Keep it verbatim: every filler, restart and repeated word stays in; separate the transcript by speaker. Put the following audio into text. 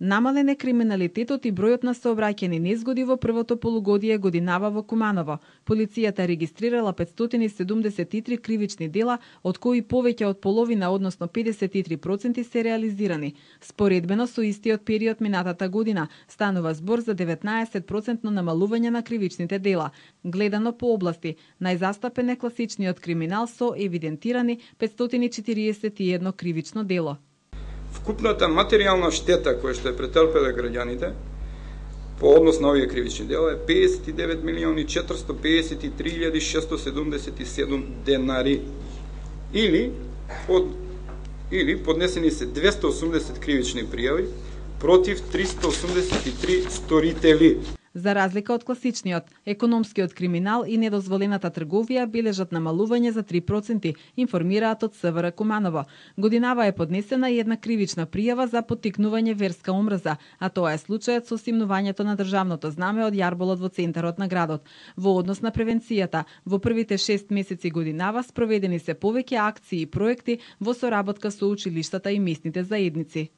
Speaker 1: Намален е криминалитетот и бројот на сообраќајни незгоди во првото полугодие годинава во Куманово. Полицијата регистрирала петстотини и седумдесет и три кривични дела, од кои повеќе од половина, односно педесет и три проценти, се реализирани. Споредбено со истиот период минатата година станува збор за деветнаесет проценти намалување на кривичните дела. Гледано по области, најзастапен е класичниот криминал со евидентирани петстотини и четириесет и едно кривично дело.
Speaker 2: Вкупната материјална штета која што е претрпеле граѓаните по однос на овие кривични дела е педесет и девет милиони четиристо педесет и три илјади шестстотини седумдесет и седум денари. Или под или поднесени се двесте и осумдесет кривични пријави против триста осумдесет и три сторители.
Speaker 1: За разлика од класичниот, економскиот криминал и недозволената трговија бележат намалување за три проценти, информираат од СВР Куманово. Годинава е поднесена и една кривична пријава за поттикнување верска омрза, а тоа е случајот со симнувањето на државното знаме од јарболот во центарот на градот. Во однос на превенцијата, во првите шест месеци годинава спроведени се повеќе акции и проекти во соработка со училиштата и местните заедници.